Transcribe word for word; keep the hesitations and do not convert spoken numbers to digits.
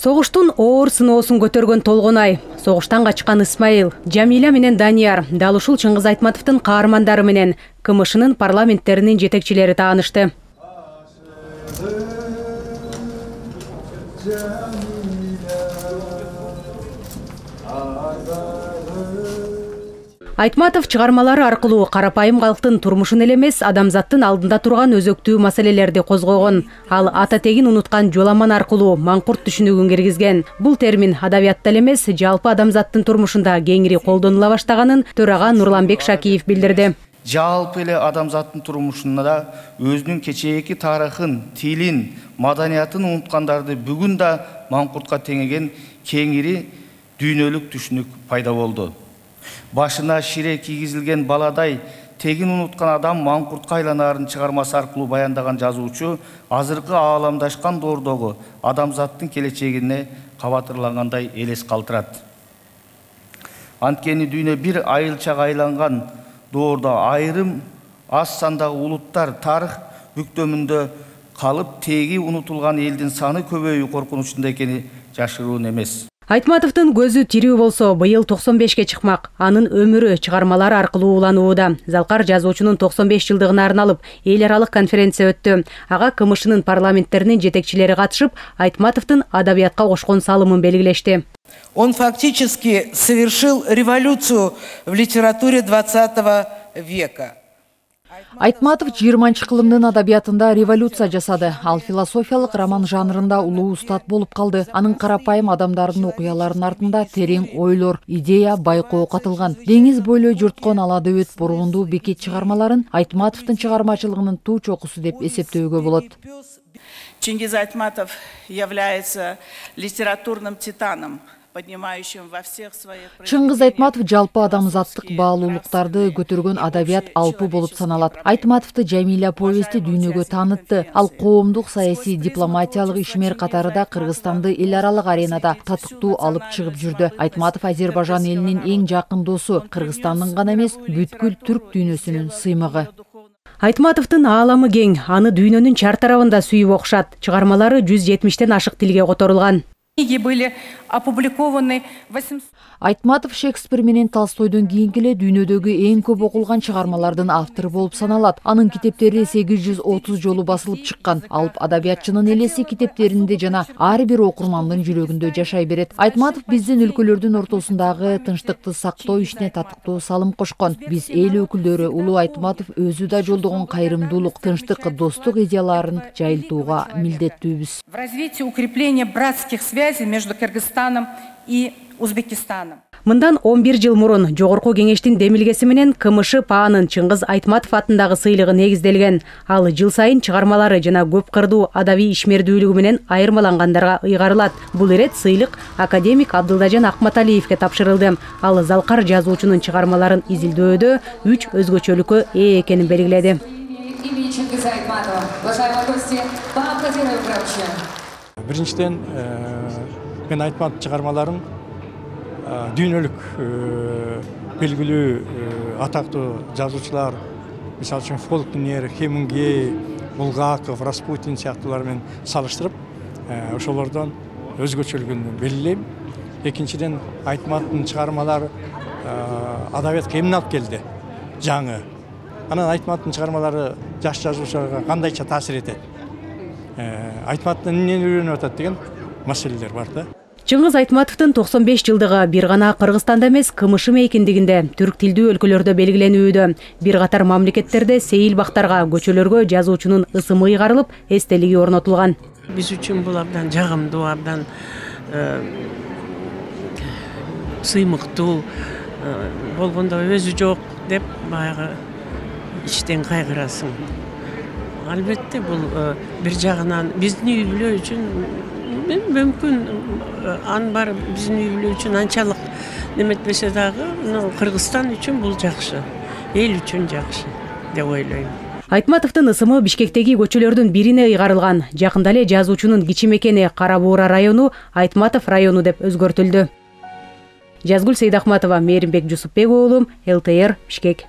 Согуштун оор сыноосун көтөргөн Толгонай, согуштан качкан Исмаил, Жамиля менен Данияр дал ушул Чыңгыз Айтматовдун каармандары менен КМШнын парламенттеринин жетекчилери таанышты. Айтматов чыгармалары аркылуу карапайым калктын турмушун эле эмес, адамзаттын алдында турган өзөктүү маселелерди козгогон. Ал ата тегин унуткан жоламан аркылуу маңкурт түшүнүгүн киргизген. Бул термин адабиятта эле эмес, жалпы адамзаттын турмушунда кеңири колдонула баштаганын төрага Нурланбек Шакиев билдирди. Жалпы эле адамзаттын турмушунда өзүнүн кечээки тарыхын, тилин, маданиятын унуткандарды бүгүн да маңкуртка теңеген кеңири дүйнөлүк түшүнүк пайда болду. Башына шире кийгизилген баладай тегин унуткан адам маңкуртка айланаарын чыгармасы аркылуу баяндаган жазуучу азыркы ааламдашкан доордогу адамзаттын келечегине кабатырлангандай элес калтырат. Анткени дүйнө бир айылчага айланган доордо айрым аз сандагы улуттар тарых бүктөмүндө калып, теги унутулган элдин саны көбөйүү коркунучунда экени жашыруун эмес. Айтматовдун көзү тирүү болсо, быйыл токсон бешке чыкмак. Анын өмүрү чыгармалары аркылуу уланууда. Залкар жазуучунун токсон беш жылдыгына арналып эл аралык конференция өттү. Ага КМШнын парламенттеринин жетекчилери катышып, Айтматовдун адабиятка кошкон салымын белгилешти. Он фактически совершил революцию в литературе двадцатого века. Айтматов жыйырманчы кылымдын адабиятында революция жасады. Ал философиялык роман жанрында улуу устат болуп калды. Анын карапайым адамдардын окуяларынын артында терең ойлор, идея, байкоо катылган. Деңиз бойлой журткон ала дөбөт бороондуу бекет чыгармаларын Айтматовдун чыгармачылыгынын туу чокусу деп эсептөөгө болот. Чингиз Айтматов является литературным титаном. Чыңгыз Айтматов жалпы адамзаттык баалуулуктарды көтөргөн адабият алпы болуп саналат. Айтматовду Жамиля повести дүйнөгө таанытты. Ал коомдук саясий дипломатиялык ишмер катарында Кыргызстанды эл аралык аренада татыктуу алып чыгып жүрдү. Айтматов Азербайжан элинин эң жакын досу, Кыргызстандын гана эмес, бүткүл түрк дүйнөсүнүн сыймыгы. Айтматовдун ааламы кең, аны дүйнөнүн чар тарабында сүйүп окшат. Чыгармалары жүз жетимиштен ашык тилге которулган. Книги были опубликованы восемьсот. Айтматов Шекспир менен Толстойдон кийинки эле дүйнөдөгү эң көп окулган чыгармалардын автору болуп саналат. Анын китептери сегиз жүз отуз жолу басылып чыккан. Алып адабиятчынын элеси китептеринде жана ар бир окурмандын жүрөгүндө жашай берет. Айтматов биздин өлкөлөрдүн ортосундагы тынчтыкты сактоо ишине татыктуу салым кошкон. Биз эл өкүлдөрү улуу Айтматов өзү да жолдогон кайрымдуулук, тынчтык, достук идеяларын жайылтууга милдеттүүбүз. В развитии укрепления братских связей между Кыргызстаном и Узбекистаном. Мындан он бир жыл мурун Жогорку кеңештин демилгеси менен КМШ ПАанын Чыңгыз Айтматов атындагы сыйлыгы негизделген. Ал жыл сайын чыгармалары жана көп кырдуу адабий ишмердүүлүгү менен айырмалангандарга ыйгарылат. Бул ирет сыйлык академик Абдылдажан Акматалиевке тапшырылды. Ал залкар жазуучунун чыгармаларын изилдөөдө үч өзгөчөлүккө ээ экенин белгиледи. Биринчиден, мен Айтматов чыгармаларын дүйнөлүк белгилүү атактуу жазуучулар, мисалы үчүн Фолкнер, Хемингей, Булгаков, Распутин сыяктуулар менен салыштырып, ошолордон өзгөчөлүгүн белгилейм. Экинчиден, Айтматовдун чыгармалары адабиятка эмне алып келди? Жаңы. Анан Айтматовдун чыгармалары жаш жазуучуларга кандайча таасир этет? Айтматовдон эмнени үйрөнүп атат деген маселелер бар да. Чыңгыз Айтматовдун токсон беш жылдыгы бир гана Кыргызстанда эмес, КМШ мейкиндигинде, түрк тилдүү өлкөлөрдө белгиленүүдө. Бир катар мамлекеттерде сейил бактарга, көчөлөргө жазуучунун ысымы ыйгарылып, эстелиги орнотулган. Биз үчүн бул абдан жагымдуу, абдан сыймыктуу болгондо өзү жок деп баягы иштен кайгырасың. Албетте бул бир жагынан биздин үй бүлө үчүн мүмкүн ан бар биздин үй бүлө үчүн анчалык неметпесе дагы, Кыргызстан үчүн бул жакшы, эл үчүн жакшы деп ойлойм. Айтматовдун ысымы Бишкектеги көчөлөрдүн бирине ыйгарылган. Жакында эле жазуучунун кичи мекени Кара Буура району Айтматов району деп өзгөртүлдү. Жазгүл Сейдахматова, Мээримбек Жусупбек уулу, эл тэ эр, Бишкек.